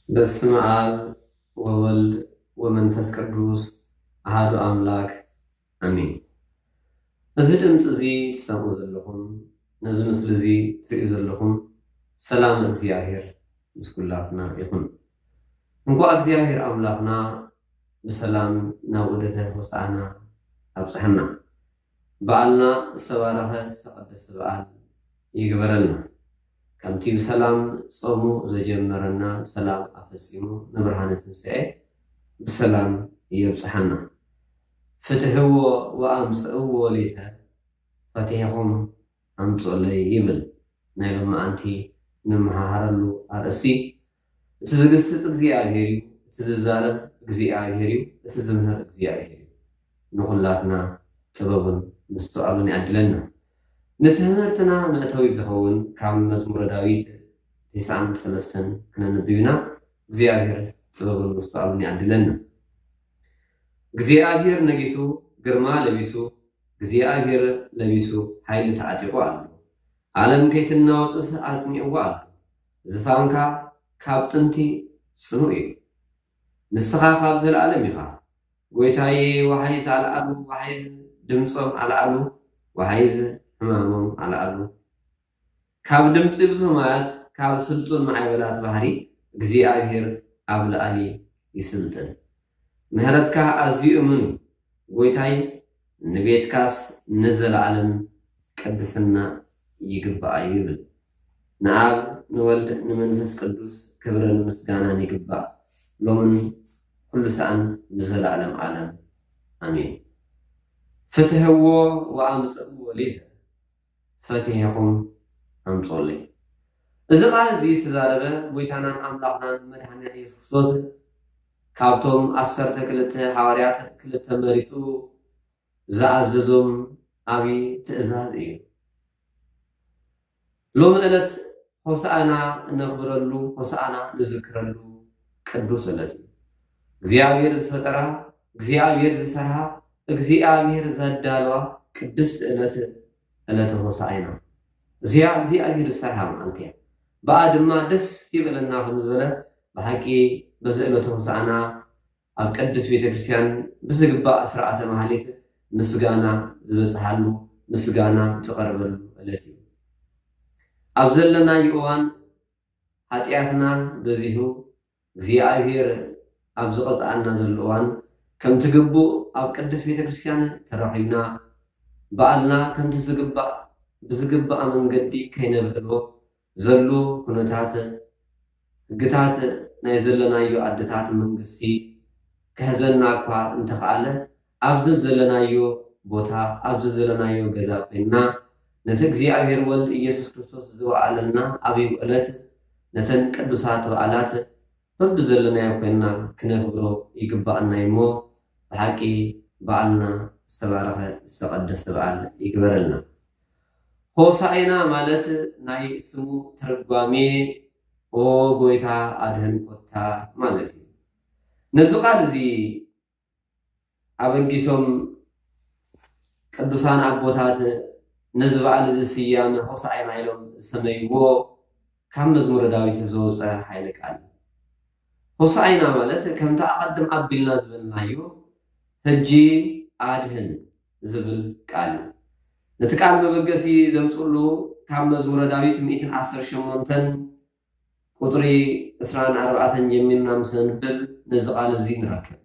በስመ አብ ወወልድ ወመንፈስ ቅዱስ አሐዱ አምላክ አሜን። እዚ ድምፂ እዚ ትሰምዑ ዘለኹም፣ ነዚ ምስሊ እዚ ትርእዩ ዘለኹም፣ ሰላም እግዚኣብሔር ምስ ኩላትና ይኹን። እንኳዕ እግዚኣብሔር ኣምላኽና ብሰላም ናብ ዑደተ ሆሳዕና ኣብፅሐና። በዓልና ዝተባረኸ ዝተቐደሰ በዓል ይግበረልና። ከምቲ ብሰላም ጾሙ ዘጀመረና ብሰላም ኣፈጺሙ ንብርሃነ ትንሳኤ ብሰላም የብጽሓና። ፍትሕዎ ወኣምጽእዎ ሌተ፣ ፈቲሕኹም ኣምጽኡለይ ይብል ናይ ሎማዓንቲ ንመሃሃረሉ ኣርእስቲ። እቲ ዝግስጽ እግዚኣብሔር እዩ፣ እቲ ዝዛረብ እግዚኣብሔር እዩ፣ እቲ ዝምህር እግዚኣብሔር እዩ። ንኹላትና ጥበቡን ምስትውዓሉን ይዓድለና። ንትምህርትና መእተዊ ዝኸውን ካብ መዝሙረ ዳዊት ተስዓን ሰለስተን ክነንብብ ኢና። እግዚኣብሔር ጥበቡን ምስትውዓሉን ይዓድለና። እግዚኣብሔር ነጊሱ፣ ግርማ ለቢሱ፣ እግዚኣብሔር ለቢሱ፣ ሓይሊ ተዓጢቑ ኣሎ። ዓለም ከይትናወጽስ ኣጽኒዕዋ ኣሎ። ዝፋንካ ካብ ጥንቲ ጽኑዕ እዩ። ንስኻ ካብ ዘለኣለም ኢኻ። ጎይታዬ፣ ወሓይዝ ኣልዓሉ፣ ወሓይዝ ድምጾም ኣልዓሉ፣ ወሓይዝ ሕማሞም ኣልዓሉ። ካብ ድምጺ ብዙማያት፣ ካብ ስልጡን ማዕበላት ባሕሪ እግዚኣብሔር ኣብ ላዕሊ ይስልጥን። ምሕረትካ ኣዝዩ እሙን እዩ። ጎይታይ፣ ንቤትካስ ንዘለዓለም ቅድስና ይግባኣ እዩ ይብል። ንኣብ ንወልድ ንመንፈስ ቅዱስ ክብርን ምስጋናን ይግባእ፣ ሎምን ኩሉ ሰዓን ንዘለዓለም ዓለም ኣሜን። ፍትሕዎ ወኣምጽእዎ ሊተ፣ ፈቲሕኹም ኣምጽኡለይ። እዚ ቃል እዚ ዝተዛረበ ጎይታናን ኣምላኽናን መድሓኒና ኢየሱስ ክርስቶስ ካብቶም ዓሰርተ ክልተ ሓዋርያት ክልተ መሪጹ ዝኣዘዞም ዓቢ ትእዛዝ እዩ። ሎሚ ዕለት ሆሳዕና እነኽብረሉ፣ ሆሳዕና ንዝክረሉ ቅዱስ ዕለት እዩ። እግዚኣብሔር ዝፈጠራ፣ እግዚኣብሔር ዝሰርሓ፣ እግዚኣብሔር ዘዳለዋ ቅድስቲ ዕለት ዕለተ ሆሳዕና። እዚኣ እግዚኣብሔር ዝሰርሓ መዓልቲ እያ። ብኣ ድማ ደስ ይበለና ከም ዝበለ ብሓቂ በዚ ዕለተ ሆሳዕና ኣብ ቅድስት ቤተ ክርስቲያን ብዝግባእ ስርዓተ ማህሌት ምስጋና ዝበጽሓሉ፣ ምስጋና ዝቐርበሉ ዕለት እዩ። ኣብ ዘለናዮ እዋን ሓጢኣትና በዚሑ እግዚኣብሔር ኣብ ዝቐጽኣና ዘሎ እዋን ከምቲ ግቡእ ኣብ ቅድስት ቤተ ክርስቲያን ተረኺብና በዓልና ከምቲ ዝግባእ ብዝግባእ መንገዲ ከይነብዕሎ ዘሉ ኩነታት ሕግታት ናይ ዘለናዮ ኣድታት መንግስቲ ክሕዘና እኳ እንተኸኣለ ኣብዚ ዘለናዮ ቦታ ኣብዚ ዘለናዮ ገዛ ኮይንና ነቲ እግዚኣብሔር ወልድ ኢየሱስ ክርስቶስ ዝወዓለልና ዓብይ ዕለት ነተን ቅዱሳት በዓላት በብዘለናዮ ኮይንና ክነኽብሮ ይግባኣና እዩ እሞ ብሓቂ በዓልና ዝተባረኸ ዝተቐደሰ በዓል ይግበረልና። ሆሳዕና ማለት ናይ ስሙ ትርጓሜ ኦ ጎይታ ኣድህን ኮታ ማለት እዩ። ነዚ ቃል እዚ ኣበጊሶም ቅዱሳን ኣቦታት ነዚ በዓል እዚ ስያመ ሆሳዕና ኢሎም ዝሰመይዎ ካብ መዝሙረ ዳዊት ዝወፀ ሓይለ ቃል እዩ። ሆሳዕና ማለት ከምቲ ኣቐድም ኣቢልና ዝበልናዮ ሕጂ ኣድህን ዝብል ቃል እዩ። ነቲ ቃል መበገሲ ዘምፅሉ ካብ መዝሙረ ዳዊት ሚእትን ዓሰርተ ሸሞንተን ቁፅሪ ዕስራን ኣርባዕተን ጀሚርና ምስ ነንብብ ነዚ ቃል እዚ ንረክብ።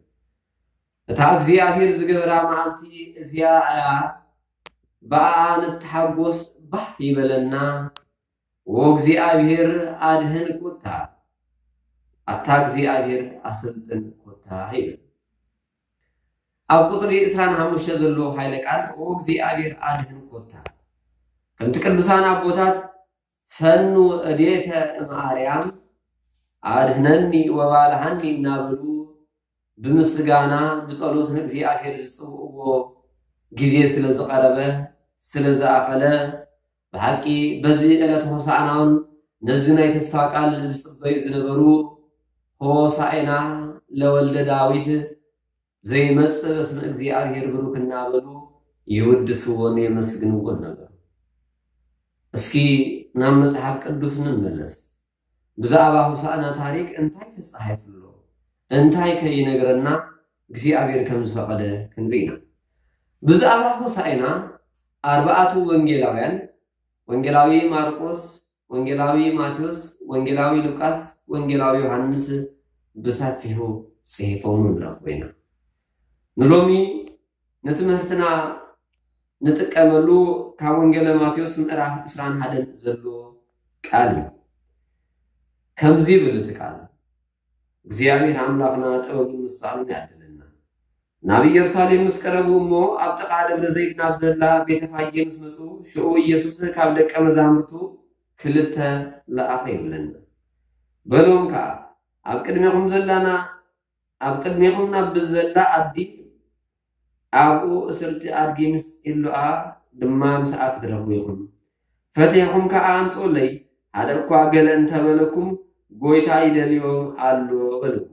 እታ እግዚኣብሔር ዝገበራ መዓልቲ እዚኣ እያ፣ ብኣኣ ንተሓጎስ ባህ ይበለና። ኦ እግዚኣብሔር ኣድህን ኮታ፣ ኣታ እግዚኣብሔር ኣሰልጥን ኮታ ይብል። ኣብ ቁፅሪ ዕስራን ሓሙሽተ ዘሎ ሓይለ ቃል ኦ እግዚኣብሔር ኣድህን ኮታ ከምቲ ቅዱሳን ኣቦታት ፈኑ እዴከ እምኣርያም ኣድህነኒ ወባልሃኒ እናበሉ ብምስጋና ብጸሎት ንእግዚኣብሔር ዝጽውዕዎ ግዜ ስለ ዝቐረበ ስለ ዝኣኸለ ብሓቂ በዚ ዕለት ሆሳዕናውን ነዚ ናይ ተስፋ ቃል ዝጽበዩ ዝነበሩ ሆሳዕና ለወልደ ዳዊት ዘይመጽእ በስመ እግዚኣብሔር ብሩክ እናበሉ ይውድስዎን የመስግንዎን ነበሩ። እስኪ ናብ መጽሓፍ ቅዱስ ንመለስ። ብዛዕባ ሆሳዕና ታሪክ እንታይ ተጻሒፉ ኣሎ? እንታይ ከይነግረና እግዚኣብሔር ከም ዝፈቐደ ክንርኢ ኢና። ብዛዕባ ሆሳዕና ኣርባዕቱ ወንጌላውያን፣ ወንጌላዊ ማርቆስ፣ ወንጌላዊ ማቴዎስ፣ ወንጌላዊ ሉቃስ፣ ወንጌላዊ ዮሃንስ ብሰፊሑ ጽሒፎም ንረኽቦ ኢና። ንሎሚ ንትምህርትና ንጥቀመሉ ካብ ወንጌለ ማቴዎስ ምዕራፍ ዕስራን ሓደን ዘሎ ቃል እዩ። ከምዚ ይብል እቲ ቃል፣ እግዚኣብሔር ኣምላኽና ጥበብን ምስትዋዕሉን ያድለና። ናብ ኢየሩሳሌም ምስ ቀረቡ እሞ ኣብ ጥቓ ደብረ ዘይት ናብ ዘላ ቤተ ፋጌ ምስ መጹ፣ ሽዑ ኢየሱስ ካብ ደቀ መዛሙርቱ ክልተ ለኣኸ ይብለና። በሎም ከኣ፣ ኣብ ቅድሜኹም ዘላና ኣብ ቅድሜኹም ናብ ዘላ ኣዲ ኣብኡ እስርቲ ኣድጊ ምስ ኢሉኣ ድማ ምስኣ ክትረኽቡ ኢኹም። ፈቲሕኩም ከኣ ኣምጽኡለይ። ሓደ እኳ ገለ እንተበለኩም፣ ጎይታ ይደልዮም ኣሎ በልዎ።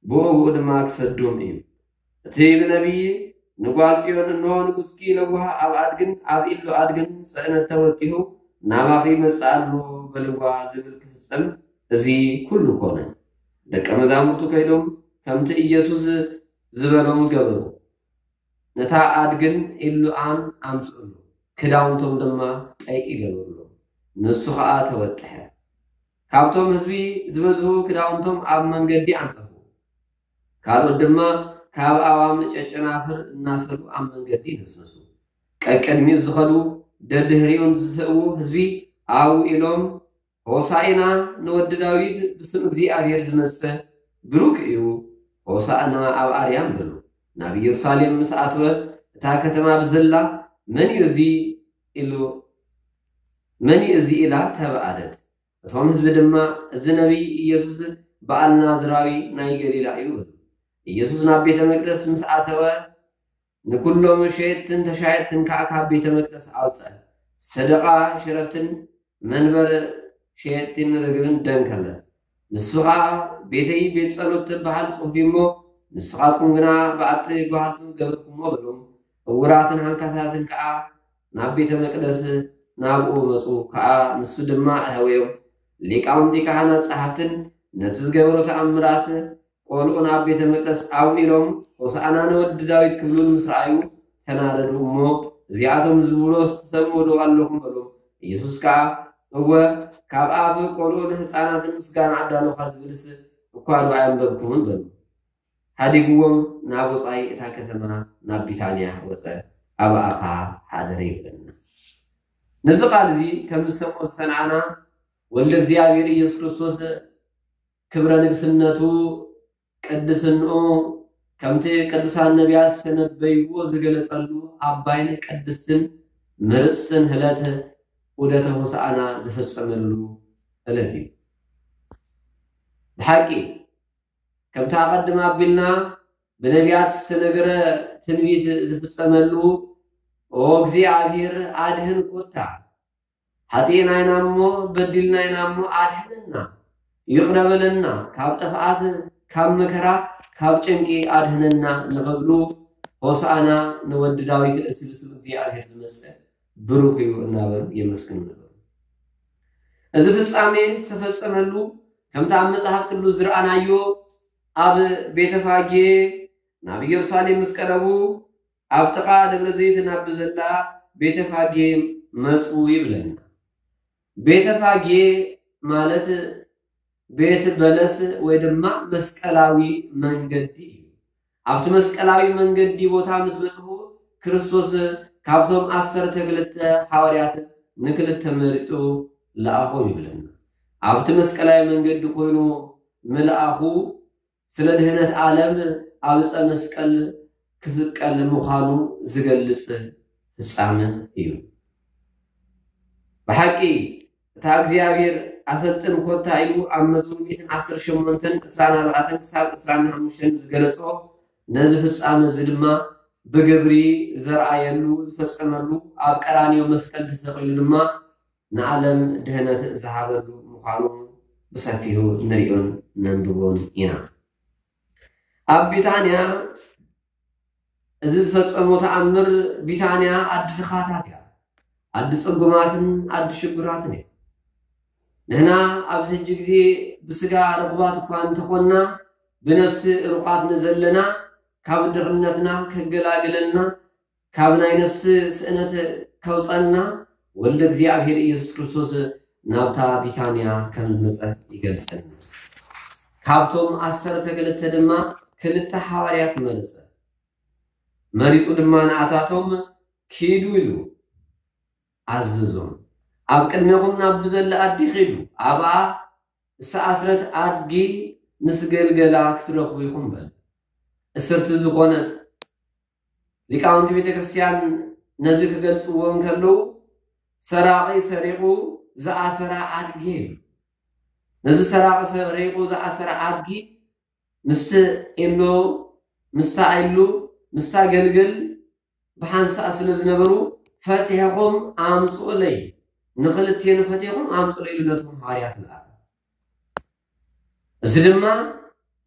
ብኡ ብኡ ድማ ክሰዶም እዩ። እቲ ብነቢይ ንጓል ጽዮን፣ እንሆ ንጉስኪ ለዋህ ኣብ ኣድግን ኣብ ኢሉ ኣድግን ጽዕነት ተወጢሑ ናባኺ ይመጽእ ኣሎ በልዋ ዝብል ክፍጸም እዚ ኩሉ ኮነ። ደቀ መዛሙርቱ ከይዶም ከምቲ ኢየሱስ ዝበሎም ገበሩ። ነታ ኣድግን ኢሉኣን ኣምጽእሉ፣ ክዳውንቶም ድማ ጠይቂ ገበሩሎም። ንሱ ኸኣ ተወጥሐ። ካብቶም ህዝቢ ዝበዝሑ ክዳውንቶም ኣብ መንገዲ ኣንጸፉ። ካልኦት ድማ ካብ ኣዋም ጨጨናፍር እናሰሩ ኣብ መንገዲ ነስነሱ። ቀቅድሚኡ ዝኸዱ ደድህሪኡን ዝስእዉ ህዝቢ ኣብኡ ኢሎም፣ ሆሳዕና ንወዲ ዳዊት፣ ብስም እግዚኣብሔር ዝመጽእ ብሩክ እዩ፣ ሆሳዕና ኣብ ኣርያም በሉ። ናብ ኢየሩሳሌም ምስ ኣተወ እታ ከተማ ብዘላ፣ መን እዩ እዚ ኢሉ መን እዩ እዚ ኢላ ተባኣለት። እቶም ህዝቢ ድማ፣ እዚ ነቢይ ኢየሱስ በኣል ናዝራዊ ናይ ገሊላ እዩ በሉ። ኢየሱስ ናብ ቤተ መቅደስ ምስ ኣተወ ንኩሎም ሸየጥትን ተሻየጥትን ከዓ ካብ ቤተ መቅደስ ኣውፀ። ሰደቃ ሽረፍትን መንበር ሸየጥትን ርግብን ደንከለ። ንሱ ከዓ ቤተይ ቤት ጸሎት ትበሃል ጽሑፍ እሞ ንስኻትኩም ግና በዓቲ ጓሃልቱ ገበርኩሞ በሎም። እውራትን ሃንካሳትን ከዓ ናብ ቤተ መቅደስ ናብኡ መጹ። ከዓ ንሱ ድማ ኣህወዮም። ሊቃውንቲ ካህናት ጸሓፍትን ነቲ ዝገበሮ ተኣምራት ቆልዑ ናብ ቤተ መቅደስ ኣብኡ ኢሎም ሆሳዕና ንወዲ ዳዊት ክብሉን ምስ ረኣዩ ተናደዱ እሞ እዚኣቶም ዝብሎስ ትሰምዑ ዶ ኣለኹም በሎም። ኢየሱስ ከዓ እወ ካብ ኣፍ ቆልዑ ንህፃናትን ምስጋና ኣዳለኻ ዝብልስ እኳ ዶ ኣየንበብኩምን በሉ። ሓዲግዎም ናብ ወፃኢ እታ ከተማ ናብ ቢታንያ ወፀ። ኣብኣ ከዓ ሓደረ ይብለና። ነዚ ቃል እዚ ከም ዝሰምዖ ዝሰንዓና ወልደ እግዚኣብሔር ኢየሱስ ክርስቶስ ክብረ ንግስነቱ ቅድስንኡ ከምቲ ቅዱሳን ነቢያት ዝተነበይዎ ዝገለጸሉ ኣባይን ቅድስትን ምርፅትን ዕለት ዑደተ ሆሳዕና ዝፈጸመሉ ዕለት እዩ። ብሓቂ ከምቲ ኣቐድም ኣቢልና ብነቢያት ዝተነገረ ትንቢት ዝፍጸመሉ ኦ እግዚኣብሔር ኣድህን ኮታ ሓጢእና ኢና እሞ በዲልና ኢና እሞ ኣድሕነና፣ ይቕረ በለና፣ ካብ ጥፍኣት ካብ መከራ ካብ ጭንቂ ኣድሕነና ንኽብሉ ሆሳዕና ንወዲ ዳዊት እቲ ብስም እግዚኣብሔር ዝመጸ ብሩክ እዩ እናበሉ የመስግኑ ነበሩ። እዚ ፍጻሜ ዝተፈጸመሉ ከምቲ ኣብ መጽሓፍ ቅዱስ ዝረኣናዮ ኣብ ቤተፋጌ ናብ ኢየሩሳሌም ምስ ቀረቡ ኣብ ጥቓ ደብረ ዘይት ናብ ብዘላ ቤተፋጌ መጹ ይብለና። ቤተፋጌ ማለት ቤት በለስ ወይ ድማ መስቀላዊ መንገዲ እዩ። ኣብቲ መስቀላዊ መንገዲ ቦታ ምስ በጽሑ ክርስቶስ ካብቶም ዓሰርተ ክልተ ሓዋርያት ንክልተ መሪጹ ለኣኾም ይብለና። ኣብቲ መስቀላዊ መንገዲ ኮይኑ ምልኣኹ ስለ ድህነት ዓለም ኣብ ዕፀ መስቀል ክስቀል ምዃኑ ዝገልጽ ፍጻመ እዩ። ብሓቂ እታ እግዚኣብሔር ኣሰልጥን ኮታ ኢሉ ኣብ መዝሙር ሚእትን ዓሰርተ ሸሞንተን ዕስራን ኣርባዕተን ክሳብ ዕስራን ሓሙሽተን ዝገለጾ ነዚ ፍጻመ እዚ ድማ ብግብሪ ዘርኣየሉ ዝፈጸመሉ ኣብ ቀራንዮ መስቀል ተሰቒሉ ድማ ንዓለም ድህነት ዝሃበሉ ምዃኑ ብሰፊሑ ንሪኦን ነንብቦን ኢና። ኣብ ቢታንያ እዚ ዝፈጸሞ ተኣምር፣ ቢታንያ ኣዲ ድኻታት እያ፣ ኣዲ ጽጉማትን ኣዲ ሽጉራትን እያ። ንሕና ኣብዚ ሕጂ ግዜ ብስጋ ርኹባት እኳ እንተኾንና፣ ብነፍሲ ርቑቓት ንዘለና፣ ካብ ድኽነትና ከገላግለልና፣ ካብ ናይ ነፍሲ ስእነት ከውፀና፣ ወልደ እግዚኣብሔር ኢየሱስ ክርስቶስ ናብታ ቢታንያ ከም ዝመፀ ይገልፀልና። ካብቶም ዓሰርተ ክልተ ድማ ክልተ ሓዋርያት መረፀ። መሪፁ ድማ ንኣታቶም፣ ኪዱ ኢሉ ኣዘዞም። ኣብ ቅድሜኹም ናብ ብዘለ ኣዲ ኺዱ፣ ኣብኣ እሳ ኣስረት ኣድጊ ምስ ገልገላ ክትረኽቡ ኢኹም በለ። እስርቲ ዝኾነት፣ ሊቃውንቲ ቤተ ክርስቲያን ነዚ ክገልጽዎ እንከለዉ፣ ሰራቒ ሰሪቑ ዝኣሰራ ኣድጊ እዩ። ነዚ ሰራቒ ሰሪቑ ዝኣሰራ ኣድጊ ምስቲ ኢሉ፣ ምስታ ኢሉ፣ ምስታ ገልግል ብሓንሳእ ስለ ዝነበሩ፣ ፈቲሕኹም ኣምጽኡለይ፣ ንኽልቴኑ ፈቲሕኹም ኣምጽኡለይ ኢሉ ነቶም ሃዋርያት ለኣኸ። እዚ ድማ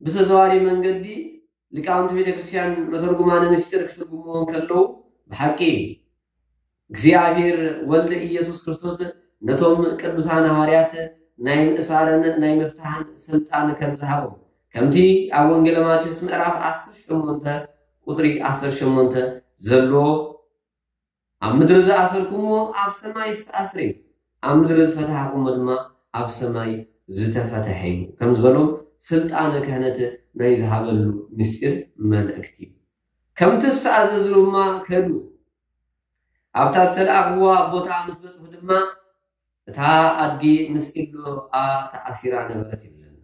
ብተዘዋዋሪ መንገዲ ሊቃውንቲ ቤተ ክርስቲያን መተርጉማነ ምስጢር ክትርጉምዎ እንከለዉ፣ ብሓቂ እግዚኣብሔር ወልደ ኢየሱስ ክርስቶስ ነቶም ቅዱሳን ሃዋርያት ናይ ምእሳርን ናይ ምፍታሕን ስልጣን ከም ዝሃቦም፣ ከምቲ ኣብ ወንጌለ ማቴዎስ ምዕራፍ ዓሰርተ ሸሞንተ ቁጽሪ ዓሰርተ ሸሞንተ ዘሎ፣ ኣብ ምድሪ ዝኣሰርኩምዎ ኣብ ሰማይ ዝተኣስረ እዩ፣ ኣብ ምድሪ ዝፈታሕኩምዎ ድማ ኣብ ሰማይ ዝተፈተሐ እዩ ከም ዝበሎም፣ ስልጣነ ክህነት ናይ ዝሃበሉ ምስጢር መልእክቲ እዩ። ከምቲ ዝተኣዘዙ ድማ ከዱ። ኣብታ ዝተለኣኽዋ ቦታ ምስ በጽሑ ድማ፣ እታ ኣድጊ ምስ ኢሉ ተኣሲራ ነበረት ይብለና።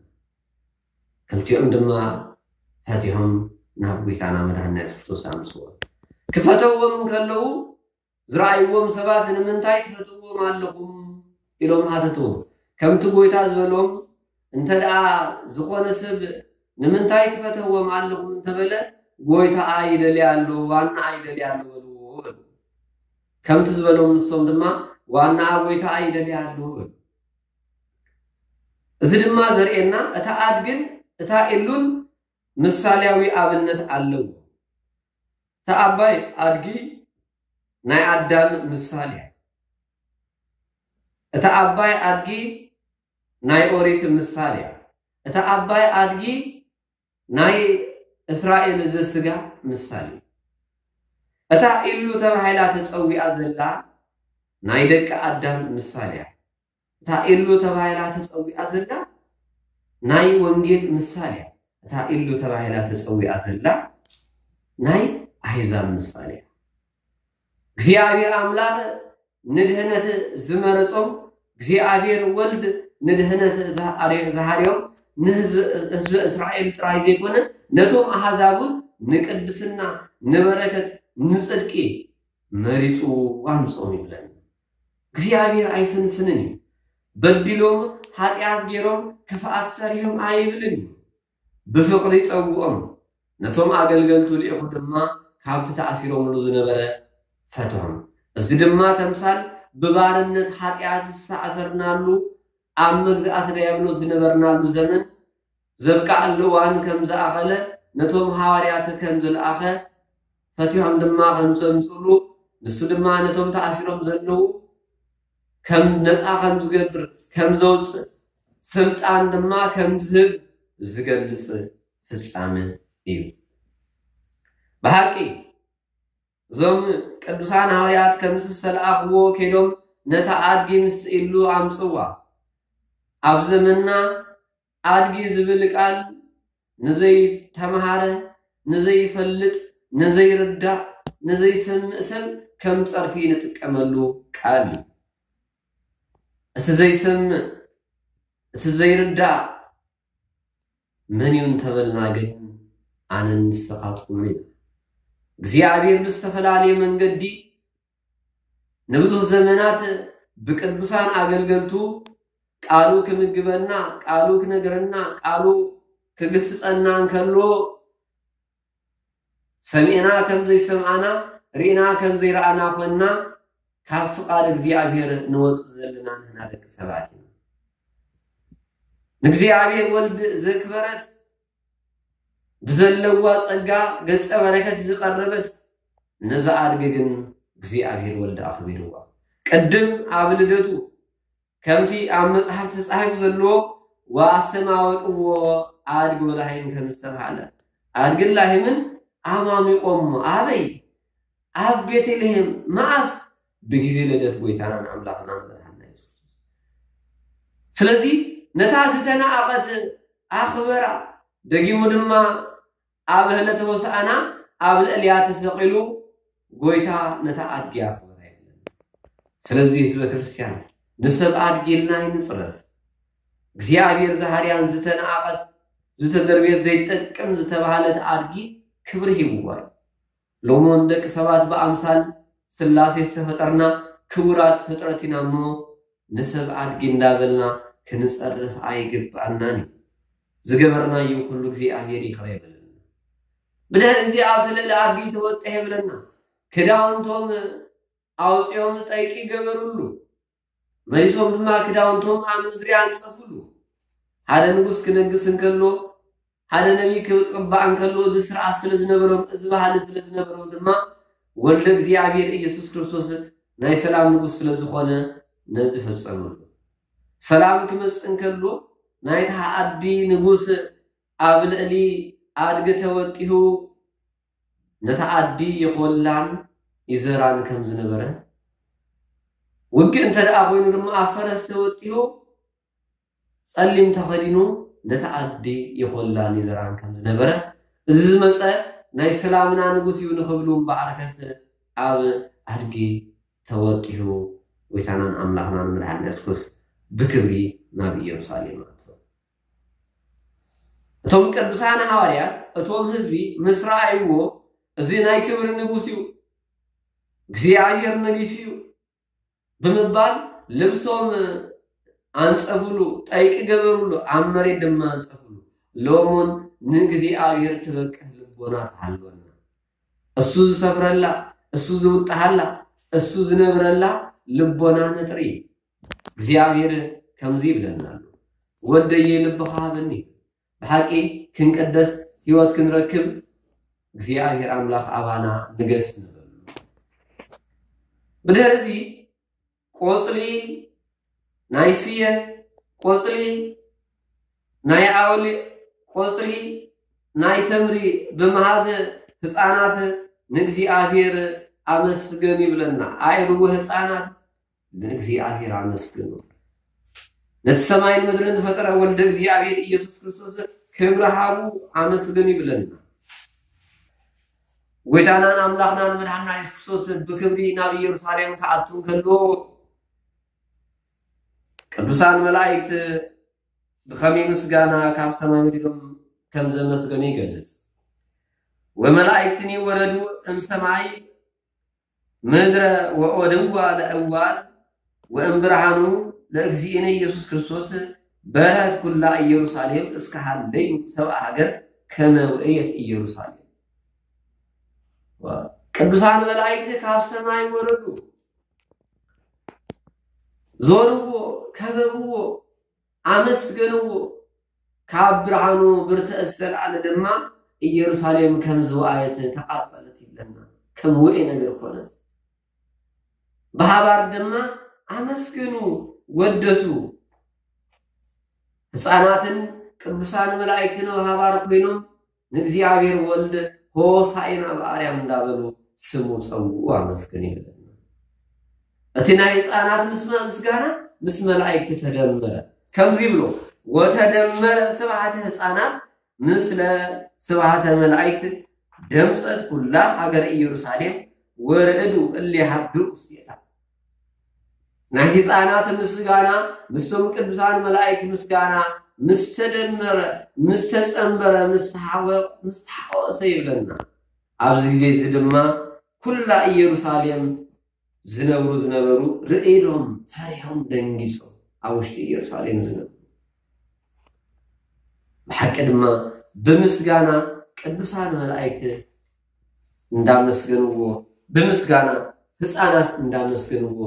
ክልቲኦም ድማ ፈቲሖም ናብ ጎይታና መድሓኒና የሱስ ክርስቶስ ኣምጽዎ። ክፈተዎም እንከለዉ፣ ዝረኣይዎም ሰባት፣ "ንምንታይ ትፈትዎም ኣለኹም?" ኢሎም ሓተትዎ። ከምቲ ጎይታ ዝበሎም፣ እንተ ደኣ ዝኾነ ሰብ፣ "ንምንታይ ትፈትዎም ኣለኹም?" እንተበለ፣ "ጎይታኣ ይደልያ ኣሎ፣ ዋናኣ ይደልያ ኣሎ" በልዎ በሉ። ከምቲ ዝበሎም ንሶም ድማ፣ "ዋናኣ ጎይታኣ ይደልያ ኣሎ" በሉ። እዚ ድማ ዘርእየና፣ እታ ኣድግን እታ ኢሉን ምሳሌያዊ ኣብነት ኣለዎ። እታ ዓባይ ኣድጊ ናይ ኣዳም ምሳሌ እያ። እታ ዓባይ ኣድጊ ናይ ኦሪት ምሳሌ እያ። እታ ዓባይ ኣድጊ ናይ እስራኤል ዘስጋ ምሳሌ። እታ ኢሉ ተባሂላ ተጸዊኣ ዘላ ናይ ደቂ ኣዳም ምሳሌ እያ። እታ ኢሉ ተባሂላ ተጸዊኣ ዘላ ናይ ወንጌል ምሳሌ እያ። እታ ኢሉ ተባሂላ ተጸዊኣ ዘላ ናይ ኣህዛብ ምሳሌ እያ። እግዚኣብሔር ኣምላኽ ንድህነት ዝመረጾም፣ እግዚኣብሔር ወልድ ንድህነት ዝሃርዮም፣ ንህዝቢ እስራኤል ጥራይ ዘይኮነ፣ ነቶም ኣህዛብ እውን ንቅድስና፣ ንበረከት፣ ንጽድቂ መሪጹ ኣምጾም ይብለና። እግዚኣብሔር ኣይፍንፍንን እዩ። በዲሎም፣ ሓጢኣት ገይሮም፣ ክፍኣት ሰሪሖም ኣይብልን እዩ። ብፍቕሪ ጸውዖም፣ ነቶም ኣገልገልቱ ልኢኹ ድማ ካብቲ ተኣሲሮምሉ ዝነበረ ፈትሖም። እዚ ድማ ተምሳል ብባርነት ሓጢኣት ዝተኣሰርናሉ፣ ኣብ መግዛእቲ ዲያብሎስ ዝነበርናሉ ዘመን ዘብቅዓሉ እዋን ከም ዝኣኸለ፣ ነቶም ሃዋርያት ከም ዝለኣኸ፣ ፈቲሖም ድማ ከም ዘምጽሉ፣ ንሱ ድማ ነቶም ተኣሲሮም ዘለዉ ከም ነጻ ከም ዝገብር፣ ከም ዘውጽእ፣ ስልጣን ድማ ከም ዝህብ ዝገልጽ ፍጻመ እዩ። ብሓቂ እዞም ቅዱሳን ሃዋርያት ከምዚ ዝተለኣኽዎ ከይዶም ነታ ኣድጊ ምስ ኢሉ ኣምጽዋ። ኣብ ዘመንና ኣድጊ ዝብል ቃል ንዘይተምሃረ፣ ንዘይፈልጥ፣ ንዘይርዳእ፣ ንዘይሰምዕ ሰብ ከም ጸርፊ ንጥቀመሉ ቃል እዩ። እቲ ዘይሰምዕ፣ እቲ ዘይርዳእ መን እዩ እንተበልና ግን ኣነን ንስኻትኩምን ኢና። እግዚኣብሔር ብዝተፈላለየ መንገዲ ንብዙሕ ዘመናት ብቅዱሳን ኣገልገልቱ ቃሉ ክምግበና፣ ቃሉ ክነግረና፣ ቃሉ ክግስጸና እንከሎ ሰሚዕና ከም ዘይሰምዓና፣ ርኢና ከም ዘይረኣና ኮይንና ካብ ፍቓድ እግዚኣብሔር ንወጽእ ዘለና ንሕና ደቂ ሰባት ኢና። ንእግዚኣብሔር ወልድ ዘክበረት ብዘለዋ ጸጋ ገጸ በረከት ዝቐረበት ነዛ ኣድጊ ግን እግዚኣብሔር ወልድ ኣኽቢርዋ። ቅድም ኣብ ልደቱ ከምቲ ኣብ መጽሓፍ ተጻሒፉ ዘሎ፣ "ወኣስተማወቅዎ ኣድግ ወላሂም" ከም ዝተባህለ፣ ኣድግን ላሂምን ኣማሚቆሞ። ኣበይ? ኣብ ቤተልሔም። መኣስ? ብግዜ ልደት ጎይታናን ኣምላኽናን መድሓንና የሱስ ክርስቶስ። ስለዚ ነታ ዝተናኣቐት ኣኽበራ፣ ደጊሙ ድማ ኣብ ዕለተ ሆሳዕና ኣብ ልዕሊያ ተሰቒሉ ጎይታ ነታ ኣድጊ ኣኽበራ ይብለና። ስለዚ ህዝበ ክርስቲያን ንሰብ ኣድጊ ኢልና ኣይንጽረፍ። እግዚኣብሔር ዝሃርያን ዝተናኣቐት ዝተደርብየት ዘይትጠቅም ዝተባህለት ኣድጊ ክብሪ ሂብዋ እዩ። ሎሚ እውን ደቂ ሰባት ብኣምሳል ስላሴ ዝተፈጠርና ክቡራት ፍጥረት ኢና እሞ ንሰብ ኣድጊ እንዳበልና ክንጸርፍ ኣይግብኣናን እዩ። ዝገበርናዮ ኩሉ እግዚኣብሔር ይቕረ ይበለልና። ብድሕሪ እዚ ኣብቲ ልዕሊ ኣድጊ ተወጥሐ ይብለና። ክዳውንቶም ኣውፂኦም ጠይቂ ገበሩሉ። መሊሶም ድማ ክዳውንቶም ኣብ ምድሪ ኣንጸፉሉ። ሓደ ንጉስ ክነግስ እንከሎ፣ ሓደ ነቢይ ክቅባእ እንከሎ፣ እዚ ስርዓት ስለ ዝነበሮም፣ እዚ ባህሊ ስለ ዝነበሮም ድማ ወልደ እግዚኣብሔር ኢየሱስ ክርስቶስ ናይ ሰላም ንጉስ ስለ ዝኾነ ነዚ ፈጸምሉ። ሰላም ክመጽእ እንከሎ፣ ናይታ ኣዲ ንጉስ ኣብ ልዕሊ ኣድጊ ተወጢሁ ነታ ኣዲ ይኾላን ይዘራን ከም ዝነበረ፣ ውግእ እንተ ደኣ ኮይኑ ድማ ኣብ ፈረስ ተወጢሁ ጸሊም ተኸዲኑ ነታ ኣዲ ይኾላን ይዘራን ከም ዝነበረ፣ እዚ ዝመጸ ናይ ሰላምና ንጉስ እዩ ንኽብሉ እምበኣር ከስ ኣብ ኣድጊ ተወጢሁ ጎይታናን ኣምላኽናን መድሓኒና የሱስ ክርስቶስ ብክብሪ ናብ ኢየሩሳሌም ኣተወ። እቶም ቅዱሳን ሃዋርያት እቶም ህዝቢ ምስ ረኣይዎ፣ "እዚ ናይ ክብሪ ንጉስ እዩ፣ እግዚኣብሔር መሊሱ እዩ" ብምባል ልብሶም ኣንጸፉሉ፣ ጠይቂ ገበሩሉ፣ ኣብ መሬት ድማ ኣንጸፉሉ። ሎሙን ንእግዚኣብሔር ትበቅህ ልቦና ትሃልወና። እሱ ዝሰፍረላ፣ እሱ ዝውጥሃላ፣ እሱ ዝነብረላ ልቦና ነጥሪ። እግዚኣብሔር ከምዚ ይብለና ኣሎ፣ "ወደየ ልብኻ ሃበኒ"። ብሓቂ ክንቅደስ፣ ህይወት ክንረክብ እግዚኣብሔር ኣምላኽ ኣባና ንገስ ንበሉ። ብድሕሪ እዚ ቆጽሊ ናይ ስየ፣ ቆጽሊ ናይ ኣውሊ፣ ቆጽሊ ናይ ተምሪ ብምሃዝ ህፃናት ንእግዚኣብሔር ኣመስገኑ ይብለና። ኣዕርጉ ህፃናት ንእግዚኣብሔር ኣመስግኑ። ነቲ ሰማይን ምድርን ዝፈጠረ ወልደ እግዚኣብሔር ኢየሱስ ክርስቶስ ክብሪ ሃቡ ኣመስግኑ ይብለና። ጎይታናን ኣምላኽናን መድሓንና የሱስ ክርስቶስ ብክብሪ ናብ ኢየሩሳሌም ክኣቱ እንከሎ ቅዱሳን መላእክት ብኸመይ ምስጋና ካብ ሰማይ ወሪዶም ከም ዘመስገኑ ይገልጽ። "ወመላእክትኒ ወረዱ እምሰማይ ምድረ ወኦደዋ ለእዋል ወእምብርሃኑ ለእግዚእነ ኢየሱስ ክርስቶስ በርሀት ኩላ ኢየሩሳሌም እስከ ሃለዩ ሰብአ ሃገር ከመ ውእየት ኢየሩሳሌም።" ቅዱሳን መላእክት ካብ ሰማይ ወረዱ፣ ዞርዎ፣ ከበብዎ፣ ኣመስገንዎ። ካብ ብርሃኑ ብርትዐ ዝተልዓለ ድማ ኢየሩሳሌም ከም ዝወኣየት ተቓጸለት ይብለና። ከም ውኤ ነገር ኮነት። ብሓባር ድማ ኣመስገኑ፣ ወደሱ። ህፃናትን ቅዱሳን መላእክትን ብሓባር ኮይኖም ንእግዚኣብሔር ወልድ ሆሳዕና በኣርያም እንዳበሉ ስሙ ጸውዑ፣ ኣመስግኑ ይብለና። እቲ ናይ ህፃናት ምስ ምስጋና ምስ መላእክቲ ተደመረ። ከምዚ ይብሎ፣ "ወተደመረ ስብሐተ ህፃናት ምስለ ስብሐተ መላእክት ደምፀት ኩላ ሃገረ ኢየሩሳሌም ወርዕዱ እለ ይሃድሩ ውስቴታ።" ናይ ህፃናት ምስጋና ምስቶም ቅዱሳን መላእክት ምስጋና ምስ ተደመረ፣ ምስ ተጸንበረ፣ ምስ ተሓወ-፣ ምስ ተሓወሰ ይብለና። ኣብዚ ግዜ እዚ ድማ ኩላ ኢየሩሳሌም ዝነብሩ ዝነበሩ ርእዶም ፈሪሖም ደንጊጾም ኣብ ውሽጢ ኢየሩሳሌም ዝነብሩ። ብሓቂ ድማ ብምስጋና ቅዱሳን መላእክት እንዳመስገንዎ፣ ብምስጋና ህፃናት እንዳመስገንዎ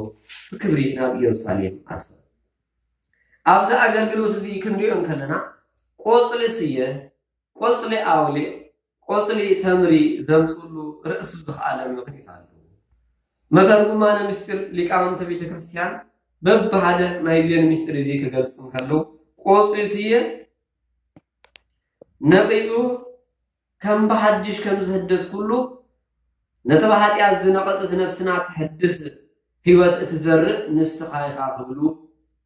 ብክብሪ ናብ ኢየሩሳሌም ኣትወ። ኣብዚ ኣገልግሎት እዚ ክንሪኦ እንከለና ቆፅሊ ስየ፣ ቆፅሊ ኣውሊዕ፣ ቆፅሊ ተምሪ ዘምፅሉ ርእሱ ዝኸኣለ ምኽኒት ኣለዎ። መተርጉማነ ምስጢር ሊቃውንተ ቤተ ክርስቲያን በብሓደ ናይዚን ምስጢር እዚ ክገልጽ እንከሎ፣ ቆጽሊ ስየ ነቒጹ ከም ብሓድሽ ከም ዝህደስ ኩሉ፣ ነቲ ብሓጢኣት ዝነቐጸት ነፍስና ትሕድስ ህይወት እትዘርእ ንስኻ ኢኻ ክብሉ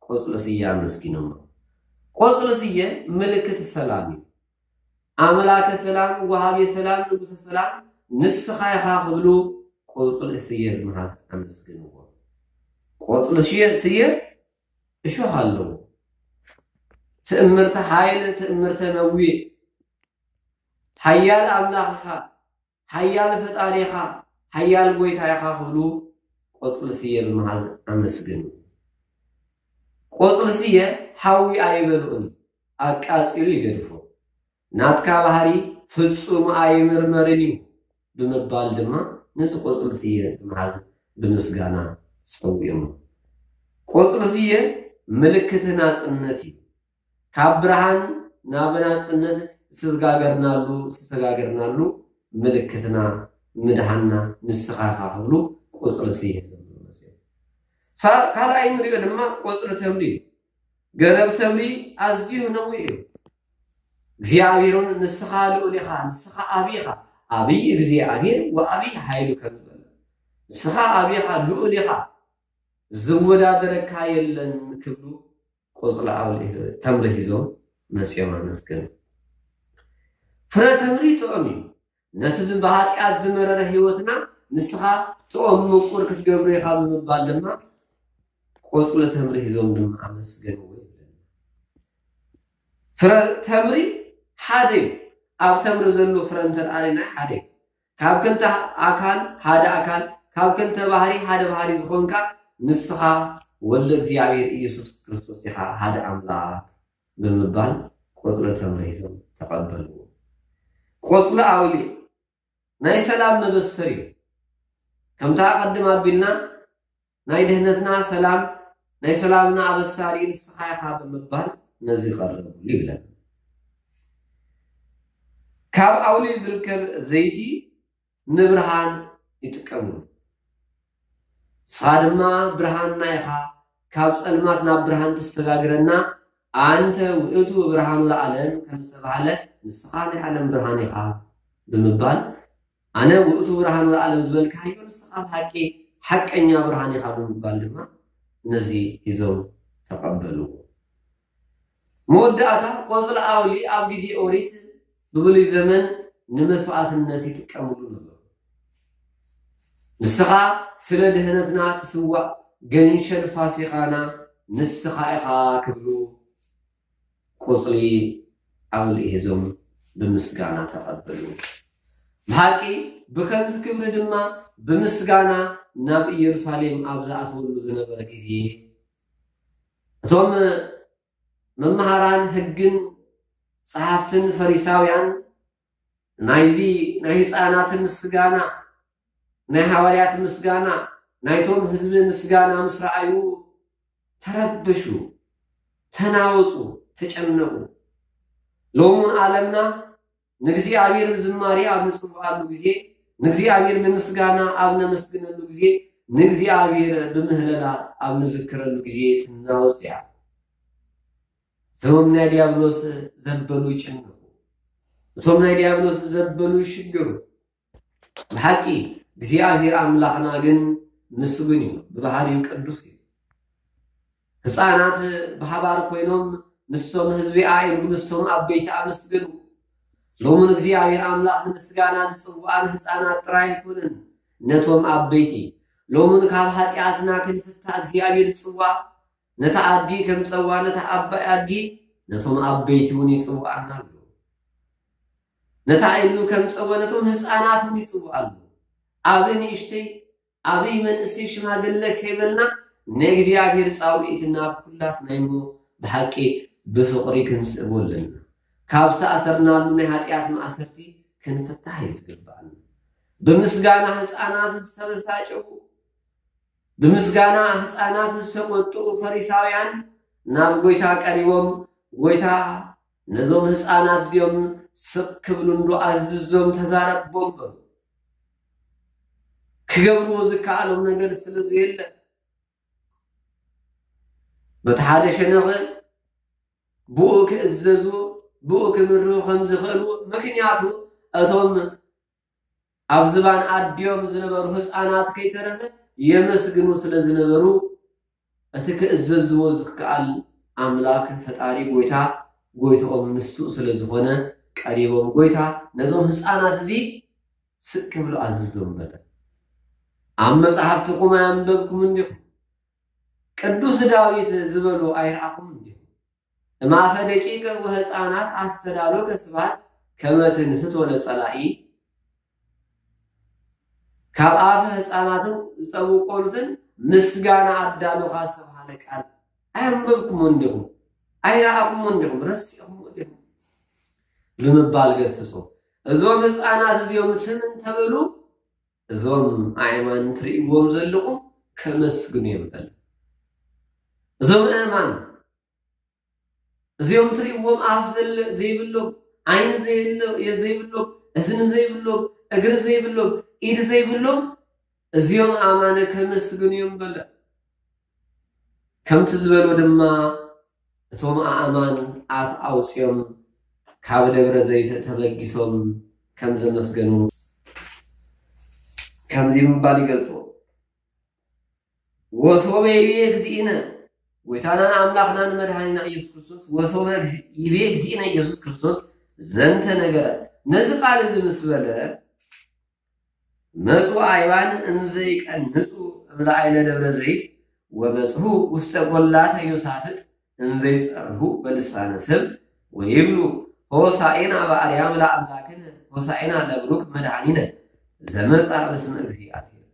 ቆጽሊ ስየ ኣመስጊኖሞ። ቆጽሊ ስየ ምልክት ሰላም እዩ። ኣምላከ ሰላም፣ ወሃቤ ሰላም፣ ንጉሰ ሰላም ንስኻ ኢኻ ክብሉ ቆጽሊ ስየ ብምሓዝ ኣመስግንዎ። ቆጽሊ ስየ፣ ስየ እሾኽ ኣለዎ። ትእምርተ ሓይል፣ ትእምርተ ነዊዕ፣ ሓያል ኣምላኽ ኢኻ፣ ሓያል ፈጣሪ ኢኻ፣ ሓያል ጎይታ ኢኻ ክብሉ ቆጽሊ ስየ ብምሓዝ ኣመስግኑ። ቆጽሊ ስየ ሓዊ ኣይበልዑን፣ ኣቃጺሉ ይገድፎ። ናትካ ባህሪ ፍጹም ኣይምርመርን እዩ ብምባል ድማ ነዚ ቆጽሊ ስየ ብምሓዝ ብምስጋና ጸዊዖም። ቆጽሊ ስየ ምልክት ናጽነት እዩ። ካብ ብርሃን ናብ ናጽነት ዝተጋገርናሉ፣ ዝተሰጋገርናሉ ምልክትና ምድሃንና ንስኻ ኢኻ ክብሉ ቆጽሊ ስየ ዘምሩ መጽዮም። ሳ-፣ ካልኣይ ንሪኦ ድማ ቆጽሊ ተምሪ እዩ። ገረብ ተምሪ ኣዝዩ ነዊሕ እዩ። እግዚኣብሔር እውን ንስኻ ልዑል ኢኻ፣ ንስኻ ዓቢ ኢኻ፣ ዓብይ እግዚኣብሔር ወዓብይ ሓይሉ ከም ዝበለ፣ ንስኻ ዓቢ ኢኻ፣ ልዑል ኢኻ፣ ዝወዳደረካ የለን ክብሉ ቆጽሊ ኣውሊ ተምሪ ሒዞም መጽዮም ኣመስገኑ። ፍረ ተምሪ ጥዑም እዩ። ነቲ ዝ-፣ ብሃጢኣት ዝመረረ ህይወትና ንስኻ ጥዑም ምቁር ክትገብሮ ኢኻ ብምባል ድማ ቆጽሊ ተምሪ ሒዞም ድማ ኣመስገንዎ ይብለና። ፍረ ተምሪ ሓደ እዩ። ኣብ ተምሪ ዘሎ ፍረ እንተ ደኣ ርኢና ሓደ እዩ። ካብ ክልተ ኣካል ሓደ ኣካል፣ ካብ ክልተ ባህሪ ሓደ ባህሪ ዝኾንካ ንስኻ ወልደ እግዚኣብሔር ኢየሱስ ክርስቶስ ኢኻ፣ ሓደ ኣምላኽ ብምባል ቆጽሊ ተምሪ ሒዞም ተቐበልዎ። ቆጽሊ ኣውሊዕ ናይ ሰላም መበሰሪ እዩ። ከምታ ኣቐድም ኣቢልና ናይ ድህነትና ሰላም፣ ናይ ሰላምና ኣበሳሪ ንስኻ ኢኻ ብምባል ነዚ ይቐርብሉ ይብለና። ካብ ኣውሊዕ ዝርከብ ዘይቲ ንብርሃን ይጥቀምሉ። ንስኻ ድማ ብርሃንና ኢኻ፣ ካብ ጸልማት ናብ ብርሃን ትሰጋግረና፣ ኣንተ ውእቱ ብርሃኑ ለዓለም ከም ዝተባህለ፣ ንስኻ ናይ ዓለም ብርሃን ኢኻ ብምባል፣ ኣነ ውእቱ ብርሃኑ ለዓለም ዝበልካዮ ንስኻ ብሓቂ ሓቀኛ ብርሃን ኢኻ ብምባል ድማ ነዚ ሒዞም ተቐበልዎ። መወዳእታ ቆጽሊ ኣውሊዕ ኣብ ግዜ ኦሪት ብብሉይ ዘመን ንመስዋዕትነት ይጥቀምሉ ነበሩ። ንስኻ ስለ ድህነትና ትስዋእ ገንሸል ፋሲካና ንስኻ ኢኻ ክብሉ ቆጽሊ ኣውሊዕ ሒዞም ብምስጋና ተቐበሉ። ብሓቂ ብከምዚ ክብሪ ድማ ብምስጋና ናብ ኢየሩሳሌም ኣብ ዝኣትወሉ ዝነበረ ግዜ እቶም መምሃራን ሕግን ጸሓፍትን ፈሪሳውያን ናይዚ ናይ ህፃናት ምስጋና፣ ናይ ሃዋርያት ምስጋና፣ ናይቶም ህዝቢ ምስጋና ምስ ረኣዩ ተረብሹ፣ ተናወፁ፣ ተጨነቁ። ሎሙን ዓለምና ንእግዚኣብሔር ብዝማሬ ኣብ ንጽውዓሉ ግዜ፣ ንእግዚኣብሔር ብምስጋና ኣብ ነመስግነሉ ግዜ፣ ንእግዚኣብሔር ብምህለላ ኣብ ንዝክረሉ ግዜ ትናወጽ እያ። እቶም ናይ ዲያብሎስ ዘበሉ ይጭነቁ፣ እቶም ናይ ዲያብሎስ ዘበሉ ይሽግሩ። ብሓቂ እግዚኣብሔር ኣምላኽና ግን ምስጉን እዩ፣ ብባህሪኡ ቅዱስ እዩ። ህፃናት ብሓባር ኮይኖም ምስቶም ህዝቢ ኣእሩግ ምስቶም ዓበይቲ ኣመስገኑ። ሎሙን እግዚኣብሔር ኣምላኽ ንምስጋና ዝፅውዓን ህፃናት ጥራይ ኣይኮነን፣ ነቶም ዓበይቲ። ሎሙን ካብ ሓጢኣትና ክንፍታ እግዚኣብሔር ይፅዋዕ። ነታ ኣድጊ ከም ፀዋ ነታ ዓባይ ኣድጊ ነቶም ዓበይቲ እውን ይፅውዓና ኣሎ። ነታ ኢሉ ከም ፀወ ነቶም ህፃናት እውን ይፅውዓ ኣሎ። ዓቢ ንእሽተይ፣ ዓብይ መንእሰይ ሽማግለ ከይበልና ናይ እግዚኣብሔር ጻውዒት ናብ ኩላትና እሞ ብሓቂ ብፍቕሪ ክንስእቦ ኣለና። ካብ ዝተኣሰርናሉ ናይ ሓጢኣት ማእሰርቲ ክንፍታሕ እዩ ዝግባኣና። ብምስጋና ህፃናት ዝተበሳጨዉ፣ ብምስጋና ህፃናት ዝተቆጥኡ ፈሪሳውያን ናብ ጎይታ ቀሪቦም፣ ጎይታ ነዞም ህፃናት እዚኦም ስቕ ክብሉ እንዶ ኣዝዞም ተዛረቦም በሉ። ክገብርዎ ዝከኣሎም ነገር ስለ ዘየለ፣ በቲ ሓደ ሸነኽ ብኡ ክእዘዙ፣ ብኡ ክምርሁ ከም ዝኽእሉ፣ ምክንያቱ እቶም ኣብ ዝባን ኣዲኦም ዝነበሩ ህፃናት ከይተረፈ የመስግኑ ስለ ዝነበሩ፣ እቲ ክእዘዝዎ ዝከኣል ኣምላኽ ፈጣሪ ጎይታ፣ ጎይትኦም ንሱ ስለ ዝኾነ፣ ቀሪቦም፣ ጎይታ ነዞም ህፃናት እዚ ስቅ ክብሉ ኣዝዞም በለ። ኣብ መጽሓፍትኹም ኣያንበብኩም እንዲኹም? ቅዱስ ዳዊት ዝበሉ ኣይረኣኹም እንዲኹም? እማፈ ደቂቀ ወህፃናት ኣስተዳሎ ከስባት ከመ ትንስቶ ለጸላኢ፣ ካብ ኣፈ ህፃናትን ዝጠቡ ቆሉትን ምስጋና ኣዳሉኻ ዝተባህለ ቃል ኣያንበብኩሞ እንዲኹም? ኣይረኣኹሞ እንዲኹም? ረሲእኹሞ እንዲኹም? ብምባል ገስጾ። እዞም ህፃናት እዚኦም ትም እንተበሉ፣ እዞም ኣእማን ትርእይዎም ዘለኹም ከመስግኑ እዮም በለ። እዞም ኣእማን እዚኦም ትርእይዎም ኣፍ ዘለ-፣ ዘይብሎም፣ ዓይኒ ዘየለ-፣ ዘይብሎም፣ እዝኒ ዘይብሎም፣ እግሪ ዘይብሎም፣ ኢድ ዘይብሎም፣ እዚኦም ኣእማነ ከመስግኑ እዮም በለ። ከምቲ ዝበሎ ድማ እቶም ኣእማን ኣፍ ኣውፂኦም ካብ ደብረ ዘይት ተበጊሶም ከም ዘመስገኑ ከምዚ ብምባል ይገልፅዎ። ወሶበ ይቤ እግዚእነ፣ ጎይታናን ኣምላኽናን መድኃኒና ኢየሱስ ክርስቶስ፣ ወሶበ እግዚ-፣ ይቤ እግዚእነ ኢየሱስ ክርስቶስ ዘንተ ነገረ፣ ነዚ ቃል እዚ ምስ በለ፣ መጹ ኣይባን እምዘይቀንጹ እምላይለ ደብረ ዘይት፣ ወበጽሑ ውስተ ቈላተ ዮሳፍጥ እምዘይጸርሁ በልሳነ ሰብ፣ ወይብሉ ሆሳዕና በአርያም ለአምላክነ፣ ሆሳዕና ለብሩክ መድኃኒነ ዘመጻ በስመ እግዚአብሔር።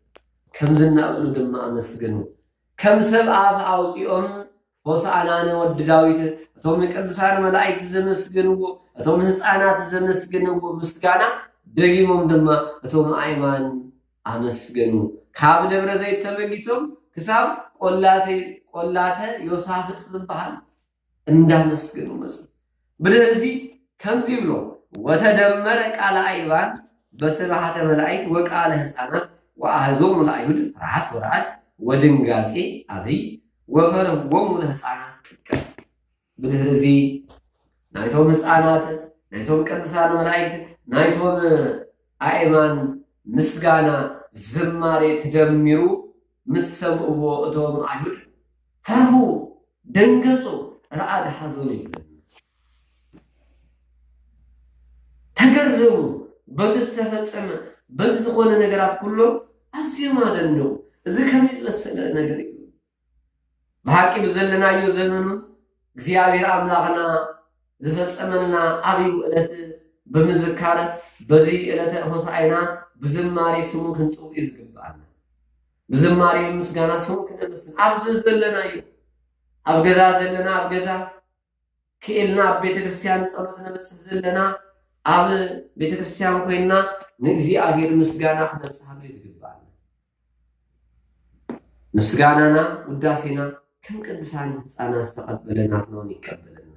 ከምዚ እናበሉ ድማ ኣመስገኑ። ከም ሰብ ኣፍ ኣውፂኦም ሆሳዕና ንወዲ ዳዊት፣ እቶም ቅዱሳን መላእክት ዘመስገንዎ፣ እቶም ህፃናት ዘመስገንዎ ምስጋና፣ ደጊሞም ድማ እቶም ኣእማን ኣመስገኑ። ካብ ደብረ ዘይት ተበጊሶም ክሳብ ቆላተ፣ ቆላተ ዮሳፍጥ ዝበሃል እንዳመስገኑ መፁ። ብድሕሪ እዚ ከምዚ ይብሎ፣ ወተደመረ ቃለ ኣይባን በስብሐተ መላእክት ወቃለ ህፃናት ወአህዞሙ ለአይሁድ ፍርሃት ወረዓድ ወድንጋጼ አብይ ወፈርህዎሙ ለህፃናት ጥቀ። ብድሕሪ እዚ ናይቶም ህፃናት፣ ናይቶም ቅዱሳን መላእክት፣ ናይቶም ኣእማን ምስጋና ዝማሬ ተደሚሩ ምስ ሰምዕዎ እቶም ኣይሁድ ፈርሁ፣ ደንገጹ፣ ረዓድ ሓዘኑ ይብለና። ተገረሙ፣ በቲ ዝተፈጸመ፣ በዚ ዝኾነ ነገራት ኩሎም ኣዝዮም ኣደነቑ። እዚ ከመይ ዝመሰለ ነገር እዩ? ብሓቂ ብዘለናዮ ዘመኑ እግዚኣብሔር ኣምላኽና ዝፈጸመልና ዓብዩ ዕለት ብምዝካር፣ በዚ ዕለተ ሆሳዕና ብዝማሬ ስሙ ክንጽውዕ ዝግብኣና። ብዝማሬ ብምስጋና ስሙ ክነመስግን። ኣብዚ ዘለናዮ፣ ኣብ ገዛ ዘለና፣ ኣብ ገዛ ክኢልና ኣብ ቤተ ክርስቲያን ጸሎት ነብጽሕ ዘለና፣ ኣብ ቤተ ክርስቲያን ኮይንና ንእግዚኣብሔር ምስጋና ክነብጽሓሉ እዩ ዝግብኣና። ምስጋናና፣ ውዳሴና ከም ቅዱሳን ህፃናት ዝተቐበለ ናትና እውን ይቀበለና።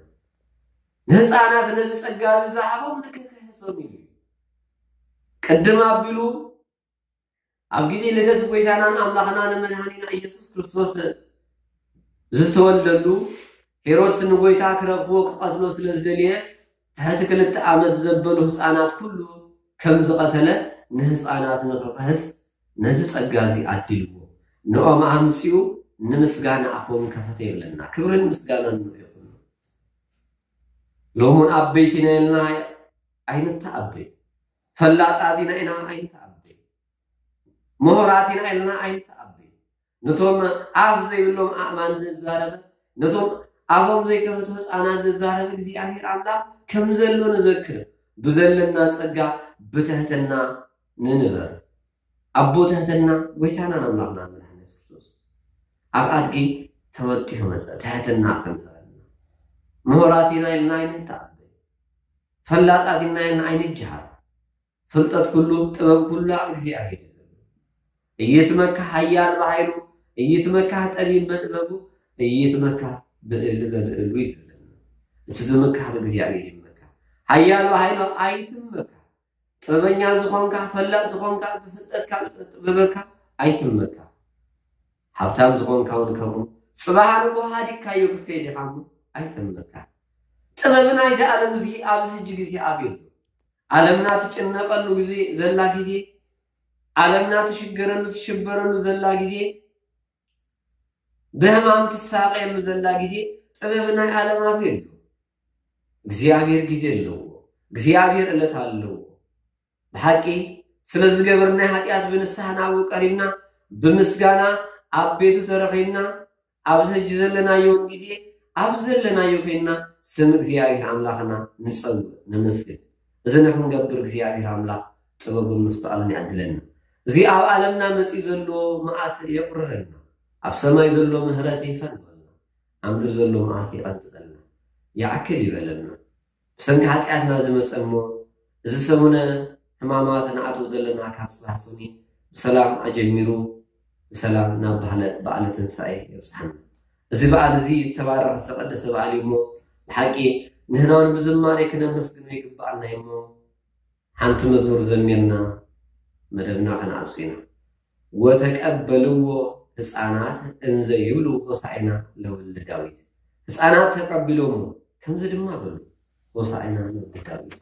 ንህፃናት ነዚ ጸጋ እዚ ዝሃቦም ንክክህሶም እዩ። ቅድም ኣቢሉ ኣብ ግዜ ልደት ጎይታናን ኣምላኽናን መድኃኒና ኢየሱስ ክርስቶስ ዝተወልደሉ፣ ሄሮድስ ንጎይታ ክረኽቦ ክቐትሎ ስለ ዝደልየ፣ ትሕቲ ክልተ ዓመት ዘበሉ ህፃናት ኩሉ ከም ዝቐተለ፣ ንህፃናት ንክክህስ ነዚ ጸጋ እዚ ኣዲልዎ። ንኦም ኣምጺኡ ንምስጋና ኣፎም ከፈተ ይብለና። ክብርን ምስጋናን ንኡ ይኹን። ሎሙን ኣበይቲና ኢልና ኣይንተኣበይ። ፈላጣት ኢና ኢና ኣይንተኣበይ። ምሁራት ኢና ኢልና ኣይንተኣበይ። ነቶም ኣፍ ዘይብሎም ኣእማን ዘዛረበ፣ ነቶም ኣፎም ዘይከፈቱ ህፃናት ዘዛረበ እግዚኣብሔር ኣምላኽ ከም ዘሎ ንዘክር። ብዘለና ጸጋ ብትሕትና ንንበር። ኣቦ ትሕትና ጎይታናን ኣምላኽናን መድኃኒና የሱስ ክርስቶስ ኣብ ኣድጊ ተወጢሑ መጸ። ትሕትና ከም ዘረና። ምሁራት ኢና ኢልና ኣይንተኣበይ። ፈላጣት ኢና ኢልና ኣይንጀሃር። ፍልጠት ኩሉ፣ ጥበብ ኩሉ ኣብ እግዚኣብሔር እዩ ዘሎ። እይትመካህ ኃያል በኃይሉ፣ እይትመካህ ጠቢብ በጥበቡ፣ እይትመካህ ብዕል በብዕሉ እዩ ዘለና። እቲ ዝምካህ ብእግዚኣብሔር ይመካህ። ኃያል በኃይሉ ኣይትመካህ። ጥበበኛ ዝኾንካ፣ ፈላጥ ዝኾንካ፣ ብፍልጠትካ፣ ብጥበብካ ኣይትመካህ። ሃብታም ዝኾንካ እውን ከምኡ፣ ጽባሕ ንግሆ ሃዲግካዮ ክትከይድ ኢኻ እሞ ኣይጠምካ። ጥበብ ናይዚ ዓለም እዚ ኣብዚ ሕጂ ግዜ ኣበይ ኣሎ? ዓለምና ትጭነቐሉ ግዜ ዘላ ግዜ፣ ዓለምና ትሽገረሉ ትሽበረሉ ዘላ ግዜ፣ ብሕማም ትሳቐየሉ ዘላ ግዜ፣ ጥበብ ናይ ዓለም ኣበይ ኣሎ? እግዚኣብሔር ግዜ ኣለዎ። እግዚኣብሔር ዕለት ኣለዎ። ብሓቂ ስለ ዝገበርናይ ሓጢኣት ብንስሓ ናብኡ ቀሪብና፣ ብምስጋና ኣብ ቤቱ ተረኺብና፣ ኣብዚ ሕጂ ዘለናዮ እውን ግዜ ኣብ ዘለናዮ ኮይንና ስም እግዚኣብሔር ኣምላኽና ንጸውዕ፣ ነመስግን። እዚ ንክንገብር እግዚኣብሔር ኣምላኽ ጥበቡን ምስትዋሉን ይዕድለና። እዚ ኣብ ዓለምና መጺኡ ዘሎ መዓት የቑርረልና፣ ኣብ ሰማይ ዘሎ ምህረት ይፈንወልና፣ ኣብ ምድሪ ዘሎ መዓት ይቐንጥጠልና፣ ይኣክል ይበለልና። ብሰንኪ ሓጢኣትና ዝመጸ እሞ፣ እዚ ሰሙነ ሕማማት ንኣትዎ ዘለና ካብ ጽባሕ ሰኑይ ብሰላም ኣጀሚሩ ብሰላም ናብ ባህለ በዓለ ትንሳኤ የብጽሓና። እዚ በዓል እዚ ዝተባረኸ ዝተቐደሰ በዓል እዩ እሞ፣ ብሓቂ ንሕና እውን ብዝማሬ ክነመስግኖ ይግብኣና እዩ እሞ፣ ሓንቲ መዝሙር ዘሚርና መደብና ከነዓጹ ኢና። "ወተቀበልዎ ህፃናት እንዘ ይብሉ ሆሳዕና ለወልደ ዳዊት።" ህፃናት ተቀቢሎሞ ከምዚ ድማ በሉ፣ "ሆሳዕና ለወልደ ዳዊት።"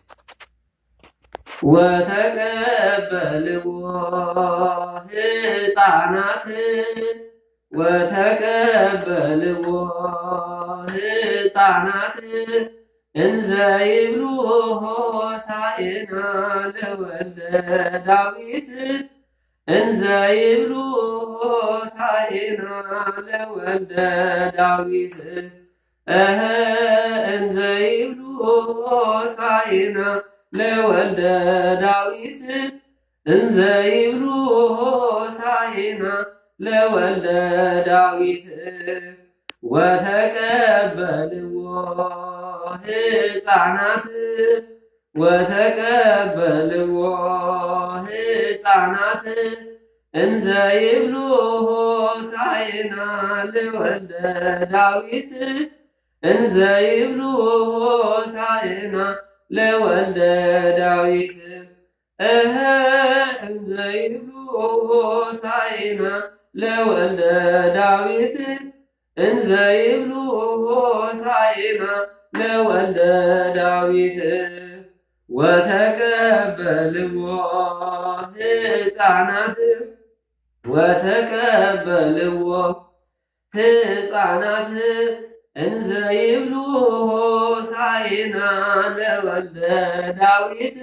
ወተቀበልዎ ህፃናት፣ ወተቀበልዎ ህፃናት እንዘ ይብሉ ሆሳዕና ለወልደ ዳዊት፣ እንዘ ይብሉ ሆሳዕና ለወልደ ዳዊት፣ እህ፣ እንዘ ይብሉ ሆሳዕና ለወልደ ዳዊት፣ እንዘ ይብሉ ሆሳዕና ለወልደ ዳዊት፣ ወተቀበልዎ ህፃናት፣ ወተቀበልዎ ህፃናት፣ እንዘ ይብሉ ሆሳዕና ለወልደ ዳዊት፣ እንዘ ይብሉ ሆሳዕና ለወልደ ዳዊት፣ እህ፣ እንዘ ይብሉ ሆሳዕና ለወልደ ዳዊት፣ እንዘ ይብሉ ሆሳዕና ለወልደ ዳዊት፣ ወተቀበልዎ ህፃናት፣ ወተቀበልዎ ህፃናት፣ እንዘ ይብሉ ሆሳዕና ለወልደ ዳዊት፣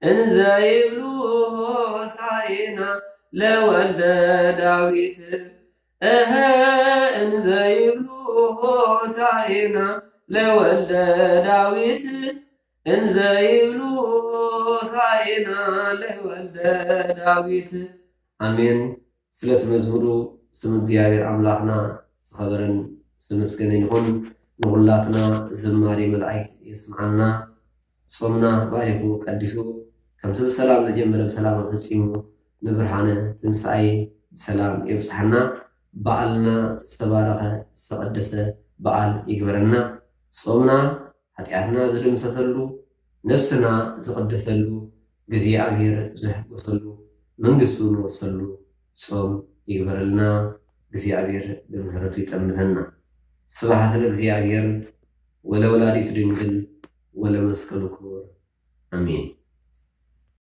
እንዘ ይብሉ ሆሳዕና ለወልደ ዳዊት፣ እህ፣ እንዘ ይብሉ ሆሳዕና ለወልደ ዳዊት፣ እንዘ ይብሉ ሆሳዕና ለወልደ ዳዊት። ኣሜን። ስለቲ መዝሙሩ ስም እግዚኣብሔር ኣምላኽና ዝኸበረን ዝተመስገነን ይኹን። ንኹላትና ዝማሬ መላእክት የስምዓልና። ጾምና ባሪኹ ቀዲሱ፣ ከምቲ ብሰላም ዝጀመረ ብሰላም ኣፈጺሙ፣ ንብርሃነ ትንሳኤ ብሰላም የብጽሓና። በዓልና ዝተባረኸ ዝተቐደሰ በዓል ይግበረና። ጾምና ሓጢኣትና ዝድምሰሰሉ፣ ነፍስና ዝቕደሰሉ፣ እግዚኣብሔር ዝሕጎሰሉ፣ መንግስቱ ንወርሰሉ ጾም ይግበረልና። እግዚኣብሔር ብምሕረቱ ይጠምተና። ስብሐት ለእግዚኣብሔር ወለወላዲቱ ድንግል ወለመስቀሉ ክቡር። ኣሜን።